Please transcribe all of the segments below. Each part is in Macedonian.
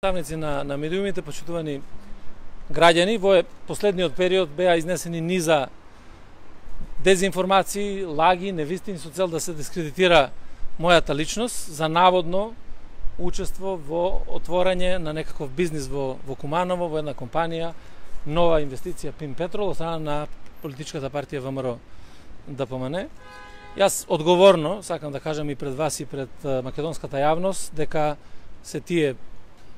Представници на медиумите, почитувани граѓани, во последниот период беа изнесени низа дезинформации, лаги, невистини со цел да се дискредитира мојата личност за наводно учество во отворање на некаков бизнис во Куманово, во една компанија, нова инвестиција Пин Петрол, од страна на политичката партија ВМРО ДПМН. Јас одговорно сакам да кажам и пред вас и пред македонската јавност дека се тие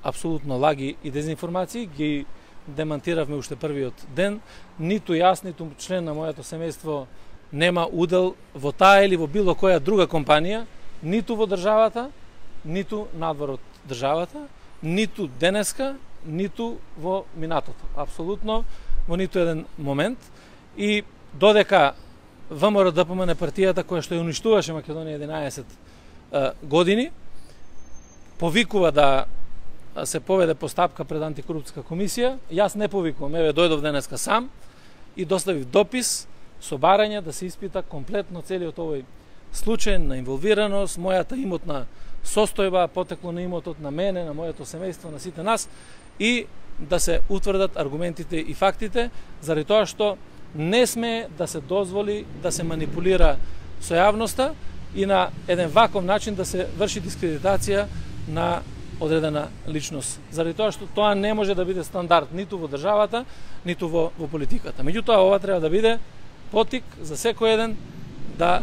апсолутно лаги и дезинформации ги демантиравме уште првиот ден. Ниту јас, ниту член на моето семејство нема удел во таа или во било која друга компанија, ниту во државата, ниту надвор од државата, ниту денеска, ниту во минатото. Апсолутно во ниту еден момент. И додека ВМРО ДПМН партијата која што ја уништуваше Македонија 11 години, повикува да се поведе постапка пред антикорупцијска комисија, јас не повикувам, еве дојдов денеска сам и доставив допис со барање да се испита комплетно целиот овој случај на инволвираност, мојата имотна состојба, потекло на имотот на мене, на моето семејство, на сите нас, и да се утврдат аргументите и фактите, заради тоа што не сме да се дозволи да се манипулира со јавноста и на еден ваков начин да се врши дискредитација на одредена личност. Заради тоа што тоа не може да биде стандард ниту во државата, ниту во политиката. Меѓутоа, ова треба да биде потик за секој еден да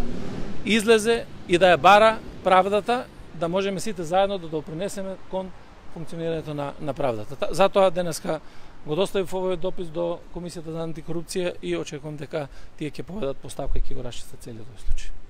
излезе и да ја бара правдата, да можеме сите заедно да допринесеме кон функционирањето на правдата. Затоа денеска го доставив овој допис до Комисијата за антикорупција и очекувам дека тие ќе поведат постапка и ќе го расчистат целиот овој случај.